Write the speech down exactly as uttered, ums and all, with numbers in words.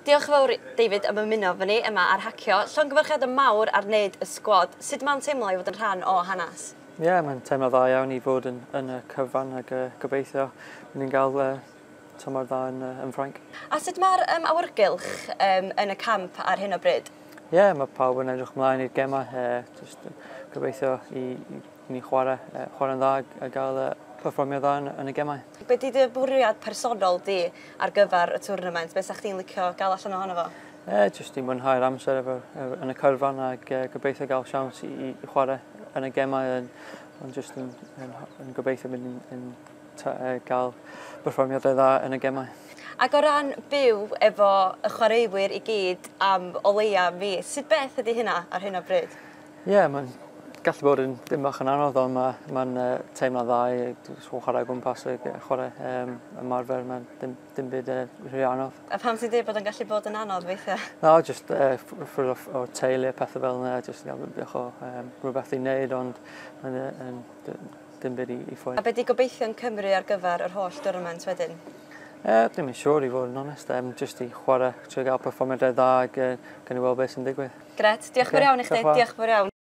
Diolch yn fawr, David, am ymuno efo ni yma ar Hacio. Llongyfarchiadau mawr ar wneud y sgwad. Sut mae'n teimlo i fod yn rhan o hanes? Ie, yeah, mae'n teimlo dda iawn i fod yn, yn y cyfan ac uh, gobeithio ni'n gael uh, tymor dda yn, uh, yn Ffrainc. A sut mae'r um, awyrgylch um, yn y camp ar hyn o bryd? Ie, yeah, mae pawb yn edrych ymlaen i'r gemau. Uh, just gobeithio i, i, i ni chwarae, uh, chwarae'n dda a gael uh, perfformio dda yn, yn y gemau. Be di dy bwriad personol di ar gyfer y tournament? Be sa chdi'n licio gael allan ohono fo? E, jyst i mwynhau'r amser efo, efo, yn y carfan ac e, gobeithio gael siawns i, i chwarae yn y gemau yn, ond jyst yn, yn, yn gobeithio mynd yn, yn ta, e, gael perfformiadau dda yn y gemau. Ac o ran byw efo y chwaraewyr i gyd am o leia mis, sut beth ydy hynna ar hyn o bryd? Ie, yeah, mae'n gallu bod yn dim bach yn anodd, ond mae'n ma, ma teimlo dda i chwarae o gwmpas y chwarae um, ymarfer, mae'n dim, dim byd uh, rhy anodd. A pam ti'n dweud bod yn gallu bod yn anodd weithiau? No, just uh, ffwrdd o'r, o'r teulu a pethau fel yna, just gael bach o um, rhywbeth i wneud, ond mae'n uh, dim byd i, i ffwrdd. A be di gobeithio'n Cymru ar gyfer yr holl tournament wedyn? Eh, ddim yn siŵr i fod yn onest, um, just i chwarae, trio gael perfformiadau dda ac uh, gawn ni weld beth sy'n digwydd. Gret, diolch okay, fawr iawn i chdi, diolch fawr iawn.